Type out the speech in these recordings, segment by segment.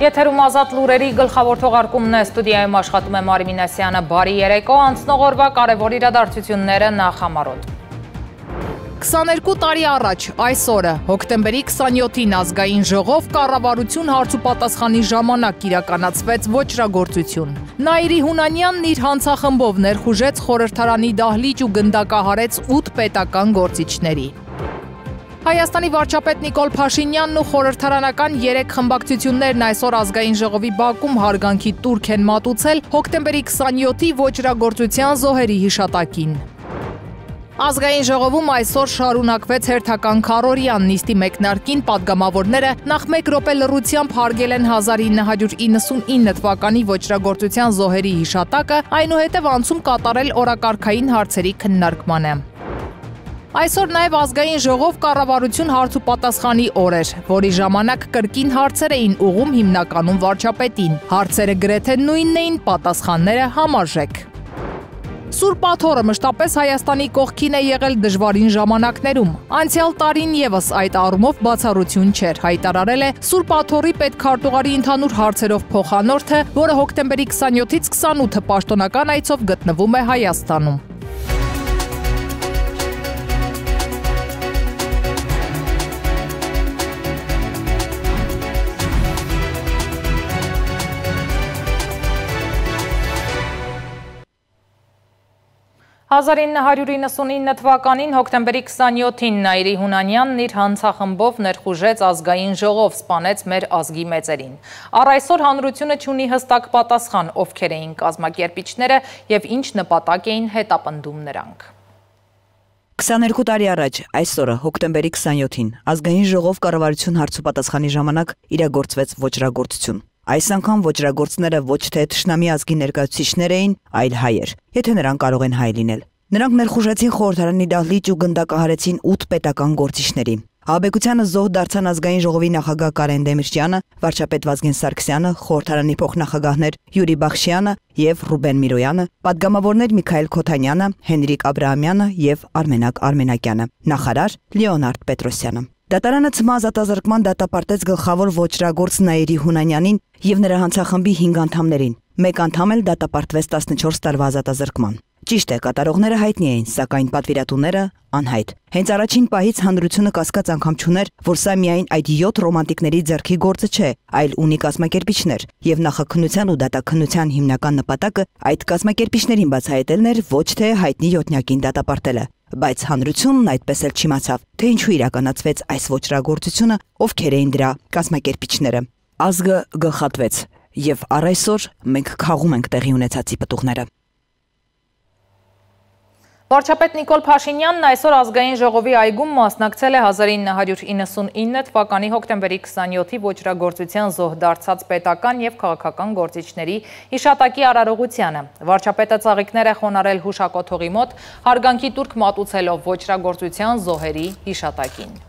Եթերում ազատ լուրերի գլխավոր թողարկումն է, ստուդիայում աշխատում է Մարի Մինասյանը, բարի երեկո, անցնող օրվա կարևոր իրադարձությունները նախամարոտ։ 22 տարի առաջ, այս օրը, հոկտեմբերի 27-ին ազգային ժողով կառավարություն հարց ու պատասխանի ժամանակ իրականացվեց ոճրագործություն։ Նաիրի Հունանյանն իր հանցախմբով ներխուժեց խորհրդարանի դահլիճ ու գնդակահարեց 8 պետական գործիչների։ Հայաստանի վարչապետ Նիկոլ Փաշինյանն ու խորհրդարանական 3 խմբակցություններն այսօր ազգային ժողովի բակում հարգանքի տուրք են մատուցել հոկտեմբերի 27-ի ոճրագործության զոհերի հիշատակին։ Ազգային ժողովում այսօր շարունակվեց հերթական քառօրյան, նիստի մեկնարկին պատգամավորները նախ 1 րոպե լռությամբ հարգել են 1999 թվականի ոճրագործության զոհերի հիշատակը, այնուհետև անցում կատարել օրակարգային հարցերի քննարկմանը։ Այսօր նաև ազգային ժողով կառավարություն հարց ու պատասխանի օր էր, որի ժամանակ կրկին հարցեր էին ուղղում հիմնականում վարչապետին։ Հարցերը գրեթե նույնն էին, պատասխանները համարժեք։ Սուրբ Աթոռը մշտապես Հայաստանի կողքին է եղել դժվարին ժամանակներում։ Անցյալ տարին եւս այդ առումով բացառություն չէր, հայտարարել է Սուրբ Աթոռի պետքարտուղարի ընդհանուր հարցերով փոխանորդը, որը հոկտեմբերի 27-ից 28-ը պաշտոնական այցով գտնվում է Հայաստանում։ «1999 թվականին հոկտեմբերի 27-ին Նաիրի Հունանյանն իր հանցախմբով ներխուժեց ազգային ժողով, սպանեց մեր ազգի մեծերին։ Առ այսօր հանրությունը չունի հստակ պատասխան, ովքեր էին կազմակերպիչները և ինչ նպատակ էին հետապնդում նրանք։ 22 տարի առաջ, այսօրը, հոկտեմբերի 27-ին, ազգային ժողով կառավարություն հարց ու պատասխանի ժամանակ իրագործվեց ոճրագործություն։ Այս անգամ ոճրագործները ոչ թե թշնամի ազգի ներկայացուցիչներ էին, այլ հայեր, եթե նրանք կարող են հայ լինել։ Նրանք ներխուժեցին խորհրդարանի դահլիճ ու գնդակահարեցին 8 պետական գործիչների։ Ահաբեկությանը զոհ դարձան ազգային ժողովի նախագահ Կարեն Դեմիրճյանը, վարչապետ Վազգեն Սարգսյանը, խորհրդարանի փոխնախագահներ Յուրի Բախշյանը և Ռուբեն Միրոյանը, պատգամավորներ Միքայել Քոթանյանը, Հենրիկ Աբրահամյանը և Արմենակ Արմենակյանը, նախարար Լեոնարդ Պետրոսյանը։ Դատարանը ցմահ ազատազրկման դատապարտեց գլխավոր ոճրագործ Նաիրի Հունանյանին և նրա հանցախմբի 5 անդամներին։ Մեկ անդամ էլ դատապարտվեց 14 տարվա ազատազրկման։ Ճիշտ է, կատարողները հայտնի էին, սակայն պատվիրատուները անհայտ։ Հենց առաջին պահից հանրությունը կասկած անգամ չուներ, որ սա միայն այդ 7 ռոմանտիկների ձեռքի գործը չէ, այլ ունի կազմակերպիչներ, և նախաքննության ու դատաքննության հիմնական նպատակը այդ կազմակերպիչներին բացահայտելն էր, ոչ թե հայտնի յոթնյակին դատապարտելը։ Բայց հանրությունն այդպես էլ չիմացավ, թե ինչու իրականացվեց այս ոճրագործությունը, ովքեր էին դրա կազմակերպիչները։ Ազգը գլխատվեց, և առ այսօր մենք քաղում ենք տեղի ունեցածի պտուղները։ Վարչապետ Նիկոլ Փաշինյանն այսօր ազգային ժողովի այգում մասնակցել է 1999 թվականի հոկտեմբերի 27-ի ոճրագործության զոհ դարձած պետական և քաղաքական գործիչների հիշատակի արարողությանը։ Վարչապետը ծաղիկներ է խոնարհել հուշակոթողի մոտ, հարգանքի տուրք մատուցելով ոճրագործության զոհերի հիշատակին։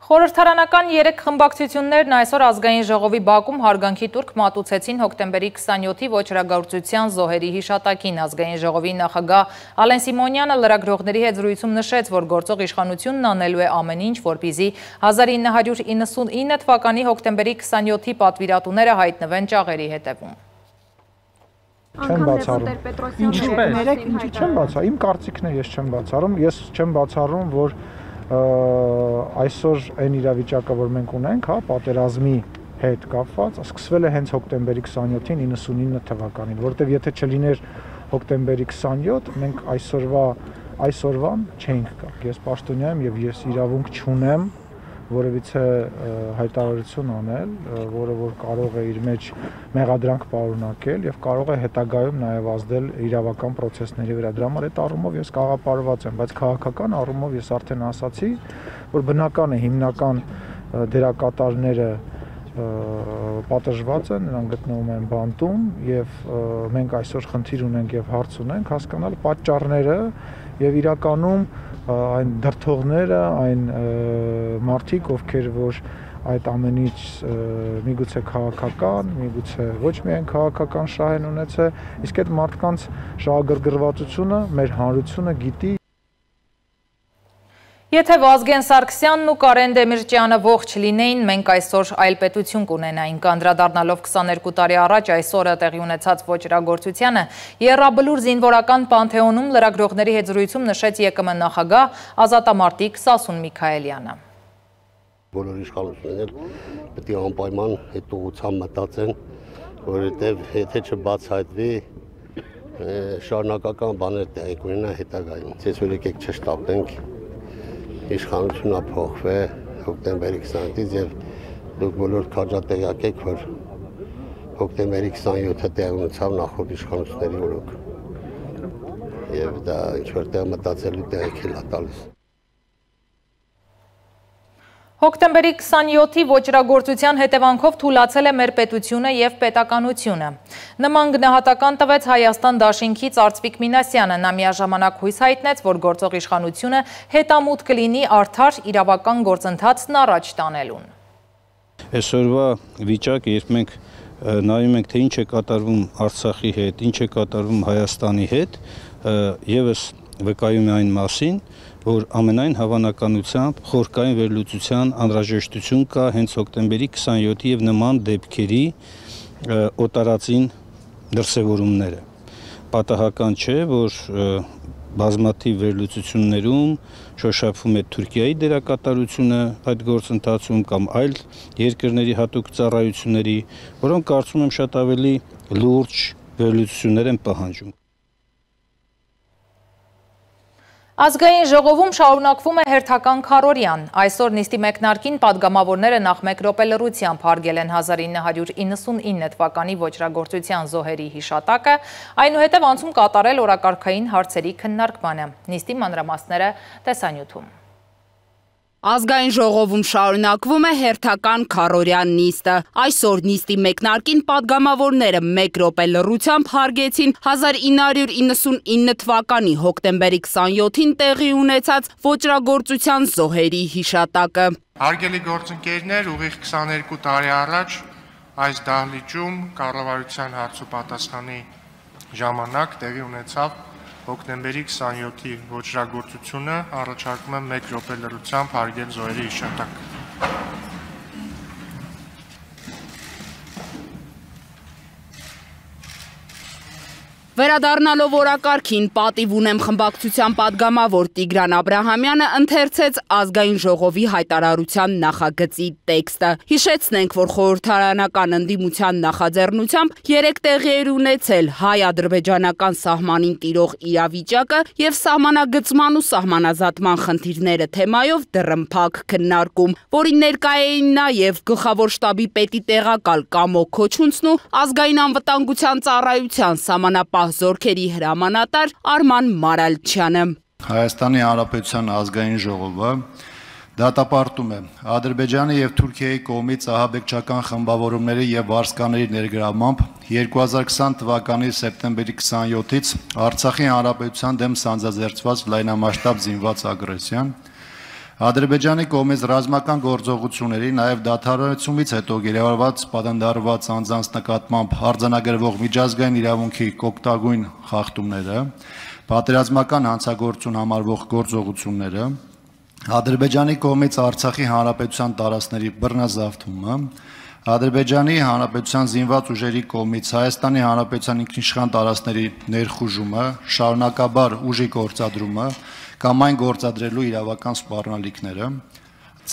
Խորհրդարանական 3 խմբակցություններն այսօր ազգային ժողովի բակում հարգանքի տուրք մատուցեցին հոկտեմբերի 27-ի ոճրագործության զոհերի հիշատակին։ Ազգային ժողովի նախագահ Ալեն Սիմոնյանը լրագրողների հետ զրույցում նշեց, որ գործող իշխանությունն անելու է ամեն ինչ, որպեսզի 1999 թվականի հոկտեմբերի 27-ի պատվիրատուները հայտնվեն ճաղերի հետևում։ Չեմ բացառում։ Ինչի չեմ բացառում։ Իմ կարծիքն է, ես չեմ բացառում։ Ես չեմ բացառում, որ այսօր այն իրավիճակը, որ մենք ունենք, հա, պատերազմի հետ կապված, սկսվել է հենց հոկտեմբերի 27-ին 99 թվականին, որտեղ եթե չլիներ հոկտեմբերի 27, մենք այսօրվան չէինք գա։ Ես պաշտոնյա եմ եւ ես իրավունք չունեմ որևիցե հայտարարություն անել, որը որ կարող է իր մեջ մեղադրանք պարունակել եւ կարող է հետագայում նաեւ ազդել իրավական process-ների վրա։ Դրա համար այդ առումով ես կաղապարված եմ, բայց քաղաքական առումով ես արդեն ասացի, որ բնական է հիմնական դերակատարները պատժված են, նրանք գտնվում են բանտում եւ մենք այսօր խնդիր ունենք եւ հարց ունենք հասկանալ պատճառները եւ իրականում այն դրդողները, այն մարդիկ, ովքեր որ այդ ամենից միգուցե քաղաքական, միգուցե ոչ միայն քաղաքական շահ են ունեցել, իսկ այդ մարդկանց շահագրգռվածությունը մեր հանրությունը գիտի։ Եթե Վազգեն Սարգսյանն ու Կարեն Դեմիրճյանը ողջ լինեին, մենք այսօր այլ պետություն կունենայինք, անդրադառնալով 22 տարի առաջ այսօրը տեղի ունեցած ոճրագործությանը, Եռաբլուր զինվորական պանթեոնում լրագրողների հետ զրույցում նշեց ԵԿՄ նախագահ ազատամարտիկ Սասուն Միքայելյանը։ Բոլոր իշխանությունները պետք է անպայման այդ ուղղությամբ մտածեն, որովհետև եթե չբացահայտվի շարունակական բաներ տեղի կունենա հետագայում։ Ցես որ եկեք չշտապենք, իշխանությունը փոխվե հոկտեմբերի 20-ից եւ դուք բոլոր քաջատեղյակ եք, որ հոկտեմբերի 27-ը տեղի ունեցավ նախորդ իշխանությունների օրոք։ Եվ դա ինչ-որ տեղ մտածելու տեղիք է տալիս։ Հոկտեմբերի 27-ի ոճրագործության հետևանքով թուլացել է մեր պետությունը և պետականությունը։ Նման գնահատական տվեց Հայաստան դաշինքից Արծվիկ Մինասյանը, նա միաժամանակ հույս հայտնեց, որ գործող իշխանությունը հետամուտ կլինի արդար իրավական գործընթացն առաջ տանելուն։ Այսօրվա վիճակը, երբ մենք նայում ենք, թե ինչ է կատարվում Արցախի հետ, ինչ է կատարվում Հայաստանի հետ, ևս վկայում է այն մասին, որ ամենայն հավանականությամբ խորքային վերլուծության անհրաժեշտություն կա հենց հոկտեմբերի 27-ի եւ նման դեպքերի օտարածին դրսևորումները։ Պատահական չէ, որ բազմաթիվ վերլուծություններում շոշափվում է Թուրքիայի դերակատարությունը այդ գործընթացում կամ այլ երկրների հատուկ ծառայությունների, որոնք կարծում եմ շատ ավելի լուրջ վերլուծություններ են պահանջում։ Ազգային ժողովում շարունակվում է հերթական քարորյան։ Այսօր նիստի մեկնարկին պատգամավորները նախ մեկ րոպե լռությամբ հարգել են 1999 թվականի ոճրագործության զոհերի հիշատակը, այնուհետև անցում կատարել օրակարգային հարցերի քննարկմանը։ Նիստի մանրամասները տեսանյութում։ Ազգային ժողովում շարունակվում է հերթական քարորյան նիստը։ Այսօր նիստի մեկնարկին պատգամավորները մեկ րոպե լռությամբ հարգեցին 1999 թվականի հոկտեմբերի 27-ին տեղի ունեցած ոճրագործության զոհերի հիշատակը։ Հարգելի գործընկերներ, ուղիղ 22 տարի առաջ այս դահլիճում կառավարության հարց ու պատասխանի ժամանակ տեղի ունեցավ հոկտեմբերի 27-ի ոճրագործությունը, առաջարկում եմ մեկ րոպե լռությամբ հարգել զոհերի հիշատակը։ Վերադառնալով օրակարգին պատիվ ունեմ խմբակցության պատգամավոր Տիգրան Աբրահամյանը ընթերցեց ազգային ժողովի հայտարարության նախագծի տեքստը։ Հիշեցնենք, որ խորհրդարանական ընդդիմության նախաձեռնությամբ 3 տեղի էր ունեցել հայ-ադրբեջանական սահմանին տիրող իրավիճակը եւ սահմանագծման ու սահմանազատման խնդիրները թեմայով դռնփակ քննարկում, որին ներկա էին նաեւ գլխավոր շտաբի պետի տեղակալ Կամո Քոչունցն ու ազգային անվտանգության ծառայության սահմանապահ զորքերի հրամանատար Արման Մարալչյանը։ Հայաստանի Հանրապետության ազգային ժողովը դատապարտում է Ադրբեջանի եւ Թուրքիայի կողմից ահաբեկչական խմբավորումների եւ վարձկաների ներգրավմամբ 2020 թվականի սեպտեմբերի 27-ից Արցախի Հանրապետության դեմ սանձազերծված լայնամասշտաբ զինված ագրեսիան, Ադրբեջանի կողմից ռազմական գործողությունների, նաև դադարեցումից հետո գերեվարված պատանդարված անձանց նկատմամբ արձանագրվող միջազգային իրավունքի կոկտագույն խախտումները, պատերազմական հանցագործություն համարվող գործողությունները, Ադրբեջանի կողմից Արցախի Հանրապետության տարածքների բռնազավթումը, Ադրբեջանի Հանրապետության զինված ուժերի կողմից Հայաստանի Հանրապետության ինքնիշխան տարածքների ներխուժումը, շարունակաբար ուժի գործադրումը կամ այն գործադրելու իրավական սպառնալիքները,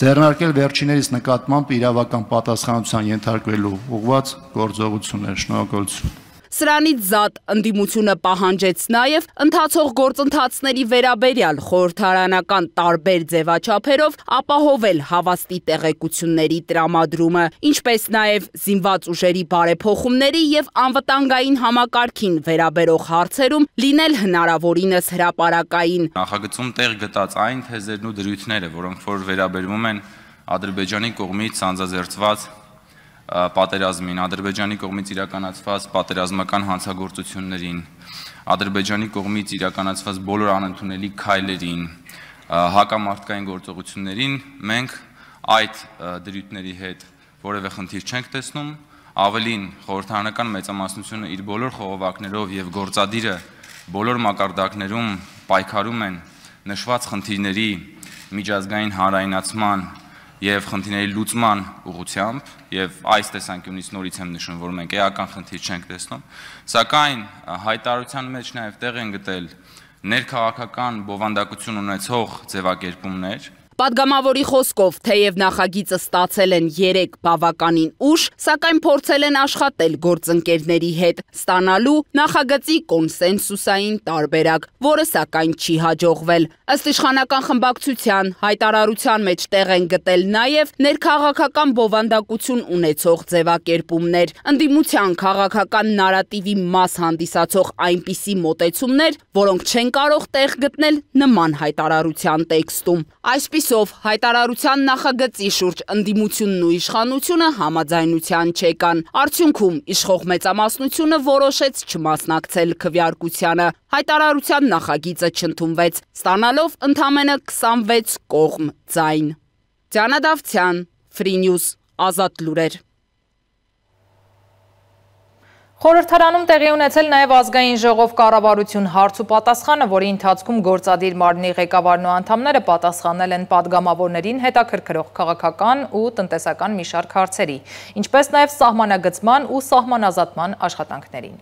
ձեռնարկել վերջիներիս նկատմամբ իրավական պատասխանատվության ենթարկվելու ուղղված գործողություններ։ Շնորհակալություն։ Սրանից զատ ընդդիմությունը պահանջեց նաև ընթացող գործընթացների վերաբերյալ խորհրդարանական տարբեր ձևաչափերով ապահովել հավաստի տեղեկությունների տրամադրումը, ինչպես նաև զինված ուժերի բարեփոխումների եւ անվտանգային համակարգին վերաբերող հարցերում լինել հնարավորինս հրապարակային։ Նախագծում տեղ գտած այն թեզերն ու դրույթները, որոնք որ վերաբերվում են Ադրբեջանի կողմից սանձազերծված պատերազմին, Ադրբեջանի կողմից իրականացված պատերազմական հանցագործություններին, Ադրբեջանի կողմից իրականացված բոլոր անընդունելի քայլերին, հակամարտկային գործողություններին, մենք այդ դրույթների հետ որևէ խնդիր չենք տեսնում, ավելին խորհրդարանական մեծամասնությունը իր բոլոր խողովակներով եւ գործադիրը բոլոր մակարդակներում պայքարում են նշված խնդիրների միջազգային հանրայնացման եւ խնդիրների լուծման ուղղությամբ եւ այս տեսանկյունից նորից եմ նշում, որ մենք էական խնդիր չենք տեսնում, սակայն հայտարարության մեջ նաեւ տեղ են գտել ներքաղաքական բովանդակություն ունեցող ձևակերպումներ։ Պատգամավորի խոսքով, թեև նախագիծը ստացել են 3 բավականին ուշ, սակայն փորձել են աշխատել գործընկերների հետ, ստանալու նախագծի կոնսենսուսային տարբերակ, որը սակայն չի հաջողվել։ Ըստ իշխանական խմբակցության հայտարարության մեջ տեղ են գտել նաև ներքաղաքական բովանդակություն ունեցող ձևակերպումներ, ընդդիմության քաղաքական նարատիվի մաս հանդիսացող այնպիսի մոտեցումներ, որոնք չեն կարող տեղ գտնել նման հայտարարության տեքստում։ Այսպիսով, հայտարարության նախագծի շուրջ ընդդիմությունն ու իշխանությունը համաձայնության չեկան։ Արդյունքում իշխող մեծամասնությունը որոշեց չմասնակցել քվեարկությանը։ Հայտարարության նախագիծը չընդունվեց, ստանալով ընդամենը 26 կողմ ձայն։ Դիանա Դավթյան, Free News, Ազատ լուրեր։ Խորհրդարանում տեղի ունեցել նաև ազգային ժողով կառավարություն հարց ու պատասխանը, որի ընթացքում գործադիր մարմնի ղեկավարն ու անդամները պատասխանել են պատգամավորներին հետաքրքրող քաղաքական ու տնտեսական մի շարք հարցերի, ինչպես նաև սահմանագծման ու սահմանազատման աշխատանքներին։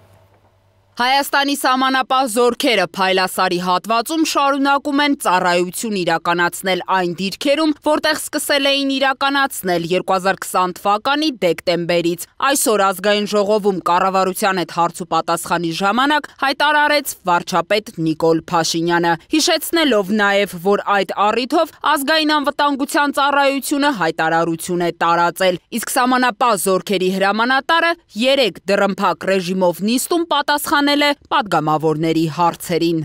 Հայաստանի սահմանապահ զորքերը Փայլասարի հատվածում շարունակում են ծառայություն իրականացնել այն դիրքերում, որտեղ սկսել էին իրականացնել 2020 թվականի դեկտեմբերից։ Այսօր ազգային ժողովում կառավարության հետ հարց ու պատասխանի ժամանակ հայտարարեց վարչապետ Նիկոլ Փաշինյանը, հիշեցնելով նաև, որ այդ առիթով ազգային անվտանգության ծառայությունը հայտարարություն է տարածել, իսկ սահմանապահ զորքերի հրամանատարը 3 դռնփակ ռեժիմով նիստում պատասխանել է պատգամավորների հարցերին։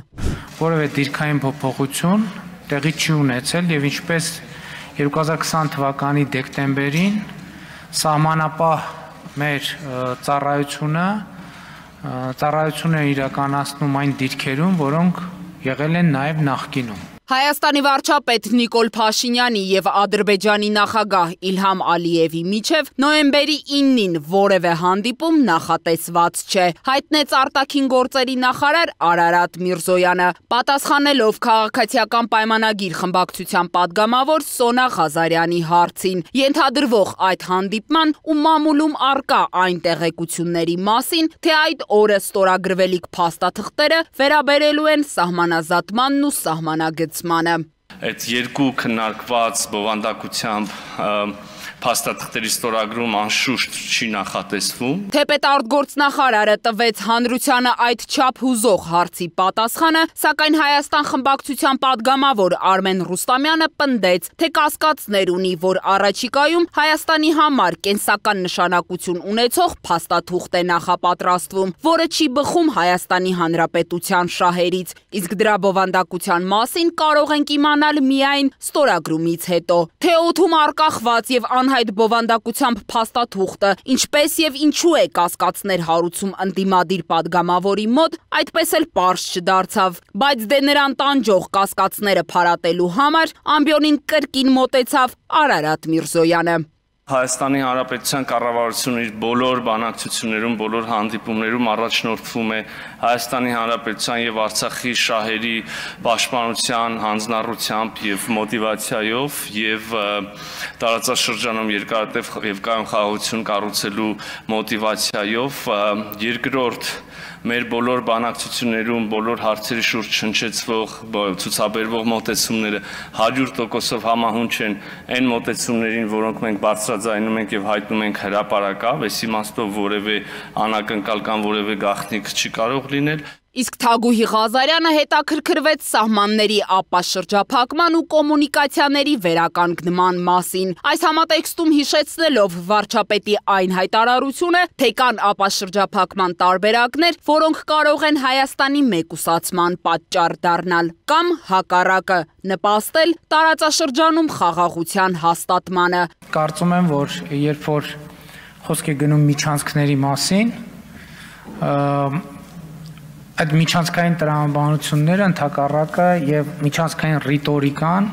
Որևէ դիրքային փոփոխություն տեղի չի ունեցել եւ ինչպես 2020 թվականի դեկտեմբերին սահմանապահ մեր ծառայությունը իրականացնում այն դիրքերում, որոնք եղել են նաեւ նախկինում։ Հայաստանի վարչապետ Նիկոլ Փաշինյանի եւ Ադրբեջանի նախագահ Իլհամ Ալիևի միջև նոյեմբերի 9-ին որևէ հանդիպում նախատեսված չէ, հայտնեց արտաքին գործերի նախարար Արարատ Միրզոյանը, պատասխանելով քաղաքացիական պայմանագիր խմբակցության падգամավոր Սոնա Ղազարյանի հարցին, ենթադրվող այդ հանդիպման ու մամուլում արկա այն տեղեկությունների մասին, թե այդ օրը ստորագրվելիք փաստաթղթերը վերաբերելու են սահմանազատմանն ու սահմանագծմանը։ Այդ երկու քննարկված բովանդակությամբ փաստաթղթերի ստորագրում անշուշտ չի նախատեսվում։ Թեպետ արտգործնախարարը տվեց հանրությանը այդ չափ հուզող հարցի պատասխանը, սակայն Հայաստան խմբակցության падգամավոր Արմեն Ռուստամյանը պնդեց, թե կասկածներ ունի, որ առաջիկայում Հայաստանի համար կենսական նշանակություն ունեցող փաստաթուղթ է նախապատրաստվում, որը չի բխում Հայաստանի Հանրապետության շահերից, իսկ դրա բովանդակության մասին կարող ենք իմանալ միայն ստորագրումից հետո։ Թե օդում արկախված եւ անհայտ բովանդակությամբ փաստաթուղթը, ինչպես եւ ինչու է կասկածներ հարուցում ընդդիմադիր падգամավորի մոտ, այդպես էլ պարզ չդարձավ, բայց դե նրան տանջող կասկածները փարատելու համար ամբիոնին կրկին մոտեցավ Արարատ Միրզոյանը։ Հայաստանի Հանրապետության կառավարությունը իր բոլոր բանակցություններում, բոլոր հանդիպումներում առաջնորդվում է Հայաստանի Հանրապետության եւ Արցախի շահերի պաշտպանության հանձնառությամբ եւ մոտիվացիայով եւ տարածաշրջանում երկարատև եւ կայուն խաղաղություն կառուցելու մոտիվացիայով երկրորդ մեր բոլոր բանակցություններում, բոլոր հարցերի շուրջ հնչեցվող, ցուցաբերվող մոտեցումները 100%-ով համահունչ են այն մոտեցումներին, որոնք մենք բարձրաձայնում ենք եւ հայտնում ենք հրապարակավ, այս իմաստով որևէ անակնկալ կամ որևէ գաղտնիք չի կարող լինել։ Իսկ Թագուհի Ղազարյանը հետաքրքրվեց սահմանների ապաշրջափակման ու կոմունիկացիաների վերականգնման մասին։ Այս համատեքստում հիշեցնելով վարչապետի այն հայտարարությունը, թե կան ապաշրջափակման տարբերակներ, որոնք կարող են Հայաստանի մեկուսացման պատճառ դառնալ կամ հակառակը նպաստել տարածաշրջանում խաղաղության հաստատմանը։ Կարծում եմ, որ երբ որ խոսք է գնում միջանցքների մասին, այդ միջանցքային տրամաբանությունները ընդհակառակը եւ միջանցքային ռիտորիկան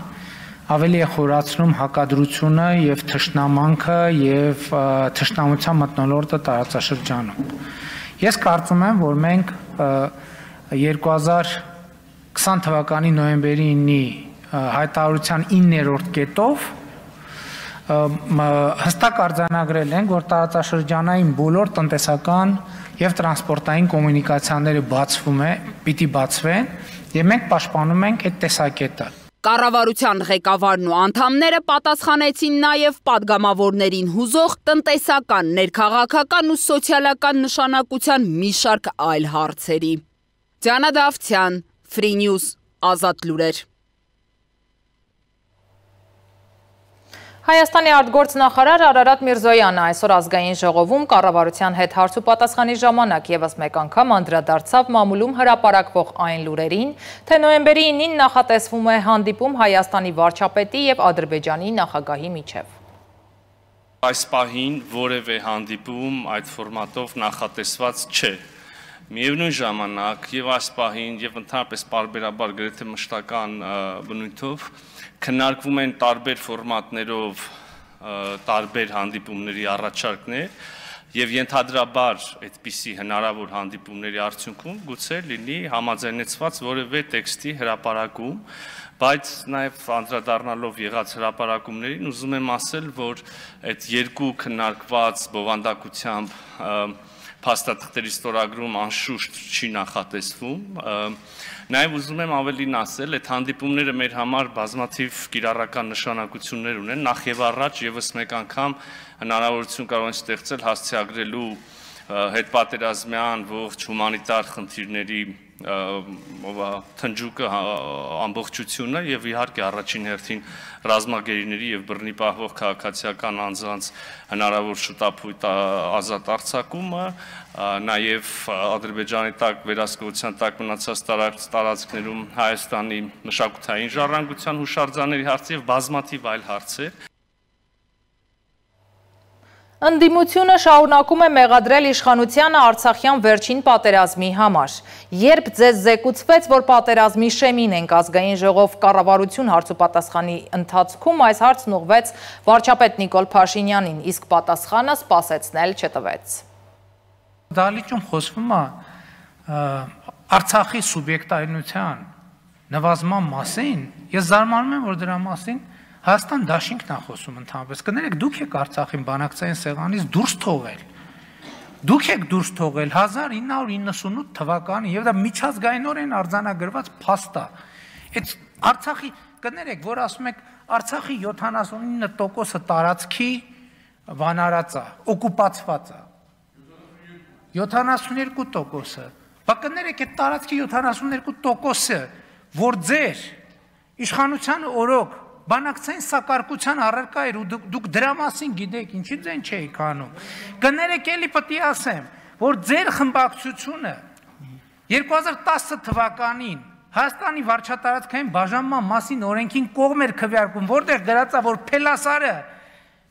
ավելի է խորացնում հակադրությունը եւ թշնամանքը եւ թշնամության մթնոլորտը տարածաշրջանում։ Ես կարծում եմ, որ մենք 2020 թվականի նոյեմբերի 9-ի հայտարարության 9-րդ կետով հստակ արձանագրել ենք, որ տարածաշրջանային բոլոր տնտեսական եւ տրանսպորտային կոմունիկացիաները պիտի բացվեն եւ մենք պաշտպանում ենք այդ տեսակետը։ Կառավարության ղեկավարն ու անդամները պատասխանեցին նաեւ падգամավորներին հուզող տնտեսական, ներքաղաքական ու սոցիալական նշանակության մի շարք այլ հարցերի։ Դիանա Դավթյան, Free News, Ազատ լուրեր։ Հայաստանի արտգործնախարար Արարատ Միրզոյանը այսօր ազգային ժողովում կառավարության հետ հարց ու պատասխանի ժամանակ ևս մեկ անգամ անդրադարձավ մամուլում հրապարակվող այն լուրերին, թե նոյեմբերի 9-ին նախատեսվում է հանդիպում Հայաստանի վարչապետի եւ Ադրբեջանի նախագահի միջև։ Այս պահին որևէ հանդիպում այդ ֆորմատով նախատեսված չէ։ Միևնույն ժամանակ եւ այս պահին եւ ընդհանրապես պարբերաբար գրեթե մշտական բնույթով քննարկվում են տարբեր ֆորմատներով տարբեր հանդիպումների առաջարկներ եւ ենթադրաբար այդպիսի հնարավոր հանդիպումների արդյունքում գուցե լինի համաձայնեցված որևէ տեքստի հրապարակում, բայց նաեւ անդրադառնալով եղած հրապարակումներին ուզում եմ ասել, որ այդ երկու քննարկված բովանդակությամբ փաստաթղթերի ստորագրում անշուշտ չի նախատեսվում։ Նաև ուզում եմ ավելին ասել, այդ հանդիպումները մեր համար բազմաթիվ կիրառական նշանակություններ ունեն, նախ եւ առաջ եւս մեկ անգամ հնարավորություն կարող են ստեղծել հասցեագրելու հետպատերազմյան ողջ հումանիտար խնդիրների թնջուկը ամբողջությունը եւ իհարկե առաջին հերթին ռազմագերիների եւ բռնի պահվող քաղաքացիական անձանց հնարավոր շուտապույտ ազատ արձակումը, նաեւ Ադրբեջանի տակ վերահսկողության տակ մնացած տարածքներում Հայաստանի մշակութային ժառանգության հուշարձանների հարցը եւ բազմաթիվ այլ հարցեր։ Ընդդիմությունը շարունակում է մեղադրել իշխանությանը Արցախյան վերջին պատերազմի համար։ Երբ ձեզ զեկուցվեց, որ պատերազմի շեմին ենք ազգային ժողով կառավարություն հարցուպատասխանի ընթացքում, այս հարցն ուղղվեց վարչապետ Նիկոլ Փաշինյանին, իսկ պատասխանը սպասեցնել չտվեց։ Դահլիճում խոսվում է Արցախի սուբյեկտայնության նվազման մասին։ Ես զարմանում եմ, որ դրա մասին Հայաստան դաշինքն է խոսում ընդհանրապես։ Կներեք, դուք եք Արցախին բանակցային սեղանից դուրս թողել։ Դուք եք դուրս թողել 1998 թվականին եւ դա միջազգայինորեն արձանագրված փաստ է։ Այդ Արցախի, կներեք, որ ասում եք Արցախի 79%-ը տարածքի վանարած է, օկուպացված է։ 72%-ը։ Բա կներեք, այդ տարածքի 72%-ը, որ ձեր իշխանության օրոք բանակցային սակարկության առարկա էր ու դուք դրա մասին գիտեք, ինչի ձեն չէիք անում։ Կներեք, էլի պետք է ասեմ, որ ձեր խմբակցությունը 2010 թվականին Հայաստանի վարչատարածքային բաժանման մասին օրենքին կողմ էր քվեարկում, որտեղ գրած է, որ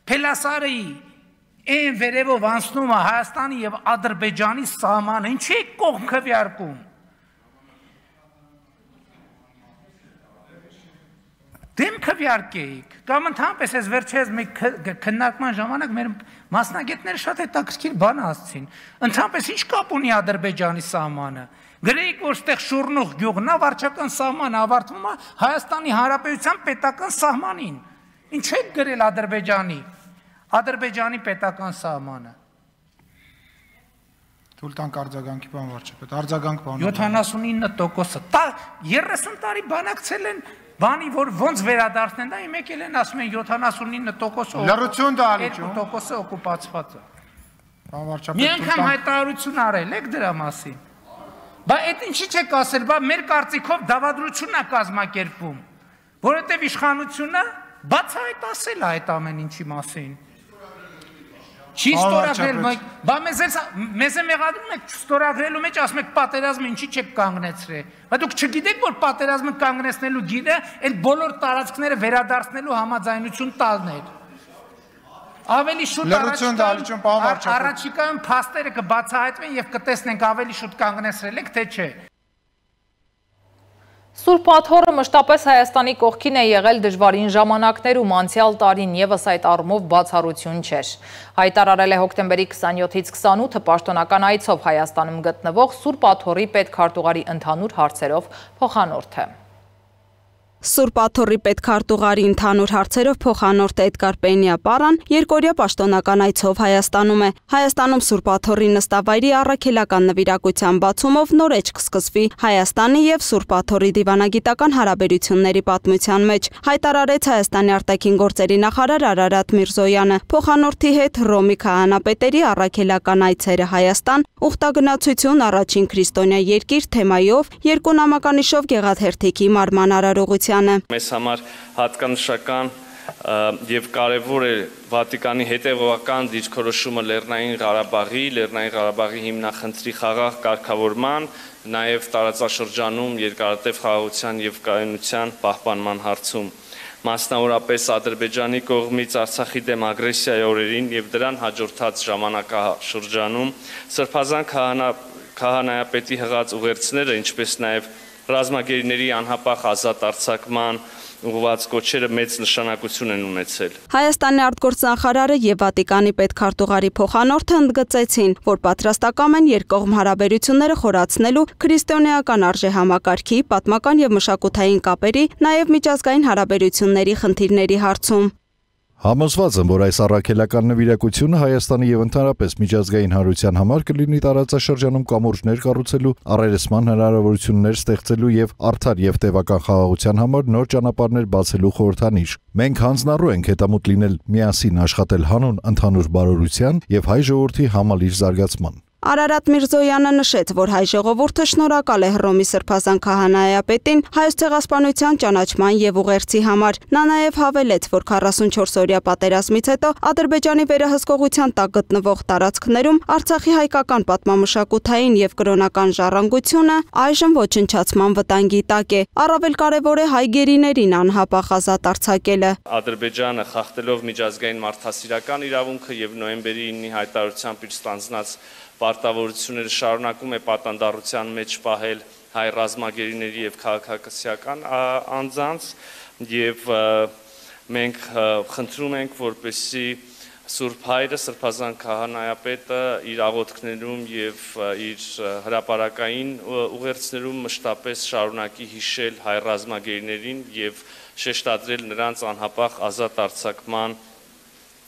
Փելասարի այն վերևով անցնում է Հայաստանի եւ Ադրբեջանի սահմանը, ինչի եք կողմ քվեարկում։ Դեմ քվեարկեիք, կամ ընդհանրապես այս վերջերս մեկ քննարկման ժամանակ մեր մասնագետները շատ հետաքրքիր բան ասացին։ Ընդհանրապես ինչ կապ ունի Ադրբեջանի սահմանը։ Գրեիք, որ ստեղ Շուռնուղ գյուղն է, վարչական սահմանը ավարտվում է Հայաստանի Հանրապետության պետական սահմանին։ Ինչ եք գրել Ադրբեջանի պետական սահմանը։ Թույլ տանք արձագանքի բան վարչապետ, արձագանք բան։ 79%-ը, 30 տարի բանակցել են բանի, որ ոնց վերադարձնեն, դա իմ եկել են ասում են 79% լռություն դալիճում, 2% օկուպացված է։ Բան վարչապետ։ Մի անգամ հայտարարություն արել եք դրա մասին։ Բա այդ ինչի՞ չեք ասել, բա մեր կարծիքով դավադրությունն է կազմակերպում, որովհետև իշխանությունը բացահայտ ասել է այդ ամեն ինչի մասին։ Չի ստորագրել, բա մեզ է մեղադրում եք ստորագրելու մեջ, ասում եք պատերազմը ինչի չեք կանգնեցրել։ Բա դուք չգիտեք, որ պատերազմը կանգնեցնելու գիրը այդ բոլոր տարածքները վերադարձնելու համաձայնություն տալն էր։ Ավելի շուտ առաջիկայում փաստերը կբացահայտվեն եւ կտեսնենք ավելի շուտ կանգնեցրել եք, թե չէ։ Սուրբ Աթոռը մշտապես Հայաստանի կողքին է եղել դժվարին ժամանակներում, անցյալ տարին ևս այդ առումով բացառություն չէր։ Հայտարարել է հոկտեմբերի 27-ից 28-ը պաշտոնական այցով Հայաստանում գտնվող Սուրբ Աթոռի պետքարտուղարի ընդհանուր հարցերով փոխանորդը։ Սուրբ Աթոռի պետքարտուղարի ընդհանուր հարցերով փոխանորդ Էդգար Պենիապարան երկօրյա պաշտոնական այցով Հայաստանում է։ Հայաստանում Սուրբ Աթոռի նստավայրի առաքելական նվիրակության բացումով նոր էջ կսկսվի Հայաստանի եւ Սուրբ Աթոռի դիվանագիտական հարաբերությունների պատմության մեջ, հայտարարեց Հայաստանի արտաքին գործերի նախարար Արարատ Միրզոյանը։ Փոխանորդի հետ Ռոմի քահանապետերի առաքելական այցերը Հայաստան, ուխտագնացություն առաջին քրիստոնյա երկիր թեմայով, երկու նամականիշով գեղաթերթիկի մարման արարողության Մեզ համար հատկանշական եւ կարեւոր է Վատիկանի հետևողական դիրքորոշումը Լեռնային Ղարաբաղի հիմնախնդրի խաղաղ կարգավորման, նաեւ տարածաշրջանում երկարատև խաղաղության եւ կայունության պահպանման հարցում։ Մասնավորապես Ադրբեջանի կողմից Արցախի դեմ ագրեսիայի օրերին եւ դրան հաջորդած ժամանակաշրջանում Սրբազան քահանայապետի հղած ուղերձները, ինչպես նաեւ ռազմագերիների անհապաղ ազատ արձակման ուղղված կոչերը մեծ նշանակություն են ունեցել։ Հայաստանի արտգործնախարարը եւ Վատիկանի պետքարտուղարի փոխանորդը ընդգծեցին, որ պատրաստական են երկկողմ հարաբերությունները խորացնելու քրիստոնեական արժեհամակարգի, պատմական եւ մշակութային կապերի, նաեւ միջազգային հարաբերությունների խնդիրների հարցում։ Համոզված եմ, որ այս առաքելական նվիրակությունը Հայաստանի եւ ընդհանրապես միջազգային հանրության համար կլինի տարածաշրջանում կամուրջներ կառուցելու, առերեսման հնարավորություններ ստեղծելու եւ արդար եւ տևական խաղաղության համար նոր ճանապարհներ բացելու խորհրդանիշ։ Մենք հանձնառու ենք հետամուտ լինել միասին աշխատել հանուն ընդհանուր բարօրության եւ հայ ժողովրդի համալիր զարգացման։ Արարատ Միրզոյանը նշեց, որ հայ ժողովուրդը շնորհակալ է Հռոմի Սրբազան քահանայապետին Հայոց ցեղասպանության ճանաչման եւ ուղերձի համար։ Նա նաեւ հավելեց, որ 44-օրյա պատերազմից հետո Ադրբեջանի վերահսկողության տակ գտնվող տարածքներում Արցախի հայկական պատմամշակութային եւ կրոնական ժառանգությունը այժմ ոչնչացման վտանգի տակ է։ Առավել կարեւոր է հայ գերիներին անհապաղ ազատ արձակելը։ Ադրբեջանը խախտելով միջազգային մարդասիրական իրավունքը եւ նոյեմբերի 9-ի հայտարարությամբ իր ստանձնած պարտավորությունները շարունակում է պատանդառության մեջ պահել հայ ռազմագերիների եւ քաղաքացիական անձանց եւ մենք խնդրում ենք, որպեսզի Սուրբ Հայրը, Սրբազան քահանայապետը իր աղոթքներում եւ իր հրապարակային ուղերձներում մշտապես շարունակի հիշել հայ ռազմագերիներին եւ շեշտադրել նրանց անհապաղ ազատ արձակման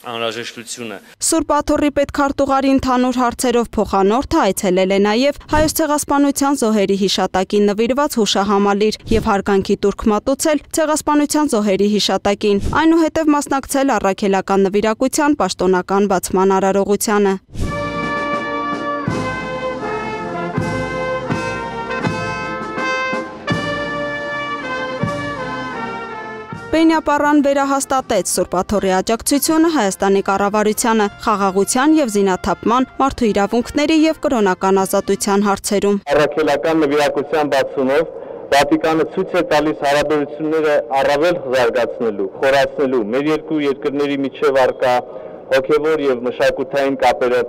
անհրաժեշտությունը։ Սուրբ Աթոռի պետքարտուղարի ընդհանուր հարցերով փոխանորդը այցելել է նաև Հայոց ցեղասպանության զոհերի հիշատակին նվիրված հուշահամալիր եւ հարգանքի տուրք մատուցել ցեղասպանության զոհերի հիշատակին, այնուհետև մասնակցել առաքելական նվիրակության պաշտոնական բացման արարողությանը։ Պենիապարան վերահաստատեց Սուրբ Աթոռի աջակցությունը Հայաստանի կառավարությանը խաղաղության եւ զինաթափման, մարդու իրավունքների եւ կրոնական ազատության հարցերում։ Առաքելական նվիրակության բացումով Վատիկանը ցույց է տալիս հարաբերությունները առավել զարգացնելու, խորացնելու, մեր երկու երկրների միջև առկա հոգեվոր եւ մշակութային կապերը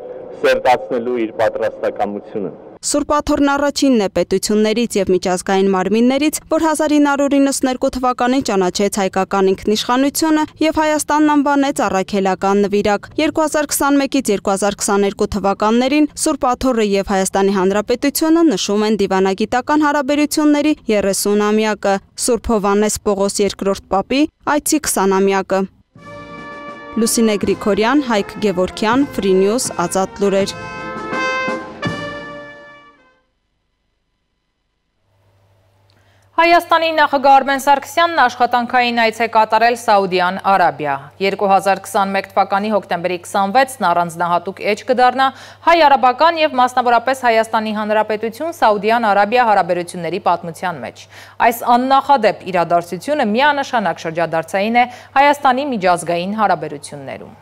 սերտացնելու իր պատրաստակամությունը։ Սուրբ Աթոռն առաջինն է պետություններից եւ միջազգային մարմիններից, որ 1992 թվականին ճանաչեց հայկական ինքնիշխանությունը եւ Հայաստանն անվանեց առաքելական նվիրակ։ 2021-ից 2022 թվականներին Սուրբ Աթոռը եւ Հայաստանի Հանրապետությունը նշում են դիվանագիտական հարաբերությունների 30-ամյակը, Սուրբ Հովհաննես Պողոս II Պապի այցի 20-ամյակը։ Լուսինե Գրիգորյան, Հայկ Գևորգյան, Free News, Ազատ լուրեր։ Հայաստանի նախագահ Արմեն Սարգսյանն աշխատանքային այց է կատարել Սաուդյան Արաբիա։ 2021 թվականի հոկտեմբերի 26-ն առանձնահատուկ էջ կդառնա հայ-արաբական և մասնավորապես Հայաստանի Հանրապետություն Սաուդյան Արաբիա հարաբերությունների պատմության մեջ։ Այս աննախադեպ իրադարձությունը միանշանակ շրջադարձային է Հայաստանի միջազգային հարաբերություններում։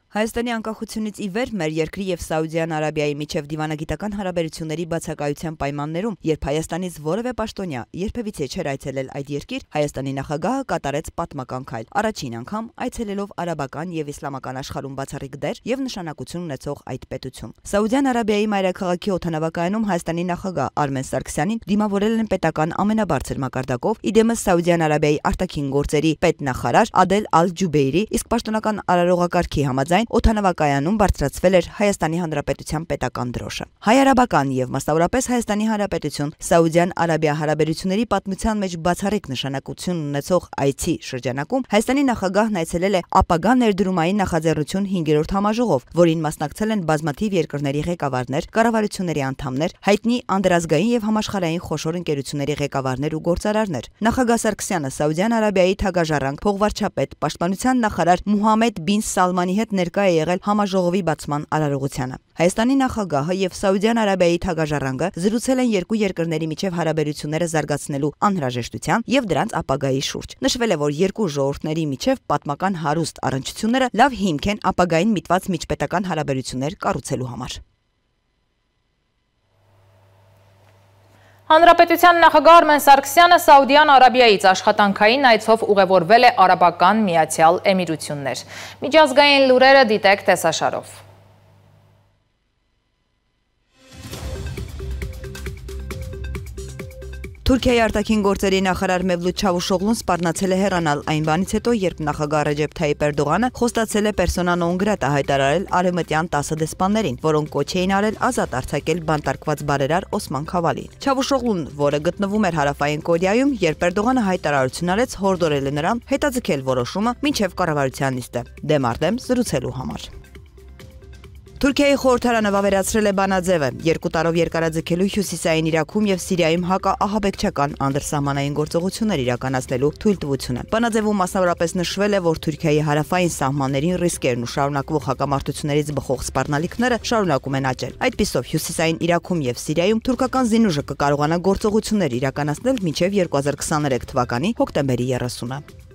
Հայաստանի անկախությունից ի վեր մեր երկրի և Սաուդյան Արաբիայի միջև դիվանագիտական հարաբերությունների բացակայության պայմաններում, երբ Հայաստանից որևէ պաշտոնյա երբևիցե չէր այցելել այդ երկիր, Հայաստանի նախագահը կատարեց պատմական քայլ։ Առաջին անգամ այցելելով արաբական և իսլամական աշխարհում բացառիկ դեր և նշանակություն ունեցող այդ պետություն։ Սաուդյան Արաբիայի մայրաքաղաքի օդանավակայանում Հայաստանի նախագահ Արմեն Սարգսյանին դիմավորել են պետական ամենաբարձր մակարդակով, իդեմս Սաուդյան Արաբիայի արտաքին գործերի պետնախարար Ադել Ալ-Ջուբեյրի, իսկ պաշտոնական արարողակարգի համաձայն օդանավակայանում բարձրացվել էր Հայաստանի Հանրապետության պետական դրոշը։ Հայ-արաբական և մասնավորապես Հայաստանի Հանրապետություն Սաուդյան Արաբիա հարաբերությունների պատմության մեջ բացառիկ նշանակություն ունեցող այցի շրջանակում Հայաստանի նախագահն այցելել է ապագա ներդրումային նախաձեռնություն 5-րդ համաժողով, որին մասնակցել են բազմաթիվ երկրների ղեկավարներ, կառավարությունների անդամներ, հայտնի անդրազգային և համաշխարհային խոշոր ընկերությունների ղեկավարներ ու գործարարներ։ Նախագահ Սարգսյանը Սաուդյան Արաբիայի թագաժառանգ, փողվարչապետ, պաշտպանության նախարար Մուհամմեդ բին Սալմանի հետ ներկա է եղել համաժողովի բացման արարողությանը։ Հայաստանի նախագահը և Սաուդյան Արաբիայի թագաժառանգը զրուցել են երկու երկրների միջև հարաբերությունները զարգացնելու անհրաժեշտության և դրանց ապագայի շուրջ։ Նշվել է, որ երկու ժողովուրդների միջև պատմական հարուստ առնչությունները լավ հիմք են ապագային միտված միջպետական հարաբերություններ կառուցելու համար։ Հանրապետության նախագահ Արմեն Սարգսյանը Սաուդյան Արաբիայից աշխատանքային այցով ուղևորվել է Արաբական Միացյալ Էմիրություններ։ Միջազգային լուրերը դիտեք տեսաշարով։ Թուրքիայի արտաքին գործերի նախարար Մևլութ Չավուշօղլուն սպառնացել է հեռանալ այն բանից հետո, երբ նախագահ Ռեջեփ Թայիպ Էրդողանը խոստացել է persona non grata հայտարարել արևմտյան 10 դեսպաններին, որոնք կոչ էին արել ազատ արձակել բանտարկված բարերար Օսման Քավալին։ Չավուշօղլուն, որը գտնվում էր Հարավային Կորեայում, երբ Էրդողանը հայտարարություն արեց, հորդորել է նրան հետաձգել որոշումը մինչև կառավարության նիստը դեմարդեմ զրուցելու համար։ Թուրքիայի խորհրդարանը վավերացրել է բանաձևը 2 տարով երկարաձգելու Հյուսիսային Իրաքում և Սիրիայում հակաահաբեկչական անդրսահմանային գործողություններ իրականացնելու թույլտվությունը։ Բանաձևում մասնավորապես նշվել է, որ Թուրքիայի հարավային սահմաններին ռիսկերն ու շարունակվող հակամարտություններից բխող սպառնալիքները շարունակում են աճել։ Այդպիսով Հյուսիսային Իրաքում և Սիրիայում թուրքական զինուժը կկարողանա գործողություններ իրականացնել մինչև 2023 թվականի հոկտեմբերի 30-ը։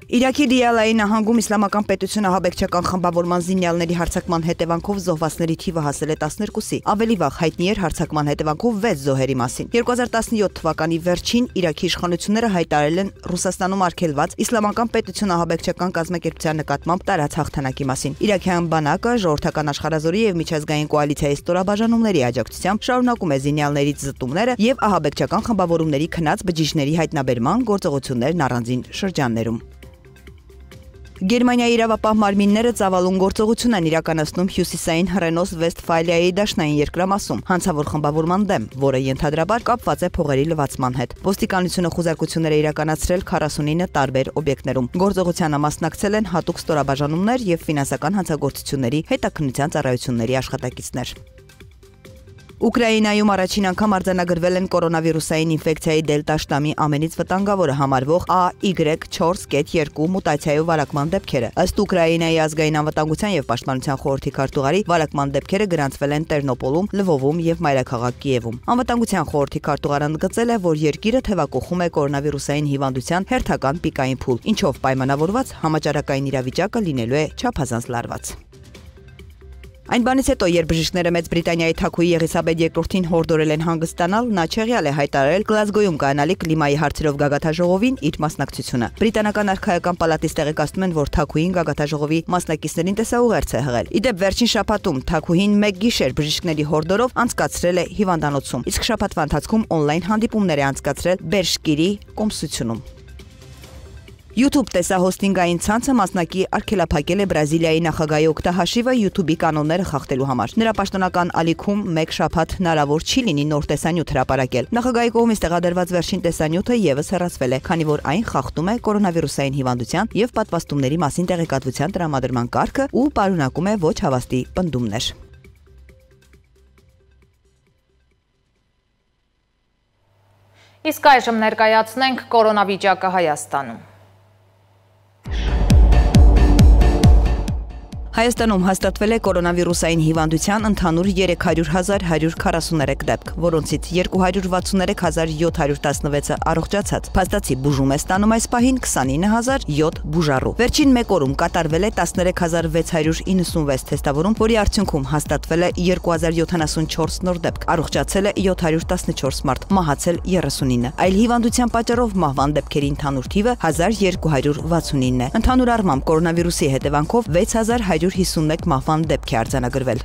Իրաքի Դիալայի նահանգում իսլամական պետությունը ահաբեկչական խմբավորման զինյալների հարձակման հետևանքով զոհվածների թիվը հասել է 12-ի։ Ավելի վաղ հայտնի էր հարձակման հետևանքով 6 զոհերի մասին։ 2017 թվականի վերջին Իրաքի իշխանությունները հայտարարել են Ռուսաստանում արգելված իսլամական պետություն ահաբեկչական կազմակերպության նկատմամբ տարած հաղթանակի մասին։ Իրաքյան բանակը ժողովրդական աշխարհազորի եւ միջազգային կոալիցիայի ստորաբաժանումների աջակցությամբ շարունակում է զինյալներից զտումները եւ ահաբեկչական խմբավորումների քնած բջիջների հայտնաբերման գործողություններն առանձին շրջաններում։ Գերմանիայի իրավապահ մարմինները ծավալուն գործողություն են իրականացնում հյուսիսային Հռենոս-Վեստֆալիայի դաշնային երկրամասում հանցավոր խմբավորման դեմ, որը ենթադրաբար կապված է փողերի լվացման հետ։ Ոստիկանությունը խուզարկություններ է իրականացրել 49 տարբեր օբյեկտներում։ Գործողությանը մասնակցել են հատուկ ստորաբաժանումներ և ֆինանսական հանցագործությունների հետաքննության ծառայությունների աշխատակիցներ։ Ուկրաինայում առաջին անգամ արձանագրվել են կորոնավիրուսային ինֆեկցիայի դելտա շտամի ամենից վտանգավորը համարվող AY4.2 մուտացիայով վարակման դեպքերը։ Ըստ Ուկրաինայի ազգային անվտանգության և պաշտպանության խորհրդի քարտուղարի, վարակման դեպքերը գրանցվել են Տերնոպոլում, Լվովում և մայրաքաղաք Կիևում։ Անվտանգության խորհրդի քարտուղարը ընդգծել է, որ երկիրը թևակողում է կորոնավիրուսային հիվանդության հերթական պիկային փուլ, ինչով պայմանավորված համաճարակային իրավիճակը լինելու է չափազանց լարված։ Այն բանից հետո, երբ բժիշկները Մեծ Բրիտանիայի Թագուհի Եղիսաբեթ II-ին հորդորել են հանգստանալ, նա չեղյալ է հայտարարել Գլազգոյում կայանալիք կլիմայի հարցերով գագաթաժողովին իր մասնակցությունը։ Բրիտանական արքայական պալատից տեղեկացնում են, որ Թագուհին գագաթաժողովի մասնակիցներին տեսաուղերձ է հղել։ Իդեպ վերջին շաբաթում Թագուհին մեկ գիշեր բժիշկների հորդորով անցկացրել է հիվանդանոցում, իսկ շաբաթվա ընթացքում օնլայն հանդիպումներ է անցկացրել Բերշկիրի կոմսությունում։ YouTube տեսահոստինգային ցանցը մասնակի արգելափակել է Բրազիլիայի նախագահի օգտահաշիվը YouTube-ի կանոնները խախտելու համար։ Նրա պաշտոնական ալիքում մեկ շաբաթ հնարավոր չի լինի նոր տեսանյութ հրապարակել։ Նախագահի կողմից տեղադրված վերջին տեսանյութը եւս հեռացվել է, քանի որ այն խախտում է կորոնավիրուսային հիվանդության եւ պատվաստումների մասին տեղեկատվության տրամադրման կարգը ու պարունակում է ոչ հավաստի պնդումներ։ Իսկ այժմ ներկայացնենք կորոնավիճակը Հայաստանում։ Հայաստանում հաստատվել է կորոնավիրուսային հիվանդության ընդհանուր 300,143 դեպք, որոնցից 263,716-ը առողջացած։ Փաստացի բուժում է ստանում այս պահին 29,007 բուժառու։ Վերջին մեկ օրում կատարվել է 13,696 թեստավորում, որի արդյունքում հաստատվել է 2074 նոր դեպք, առողջացել է 714 մարդ, մահացել 39։ Այլ հիվանդության պատճառով մահվան դեպքերի ընդհանուր թիվը 1269 է։ Ընդհանուր առմամբ կորոնավիրուսի հետևանքով 6151 մահվան դեպք է արձանագրվել։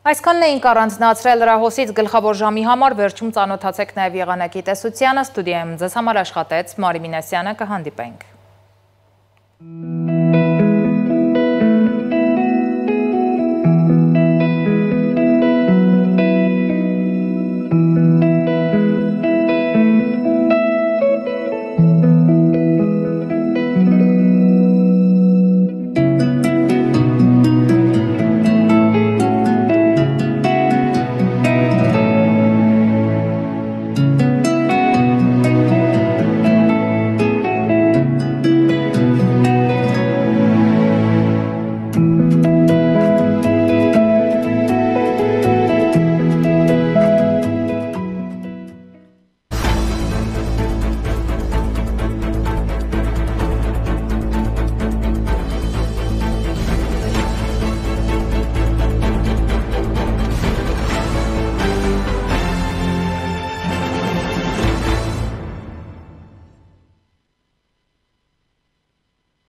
Այսքանն էինք առանձնացրել լրահոսից գլխավոր ժամի համար, վերջում ծանոթացեք նաև եղանակի տեսությանը, ստուդիայում ձեզ համար աշխատեց Մարի Մինասյանը, կհանդիպենք։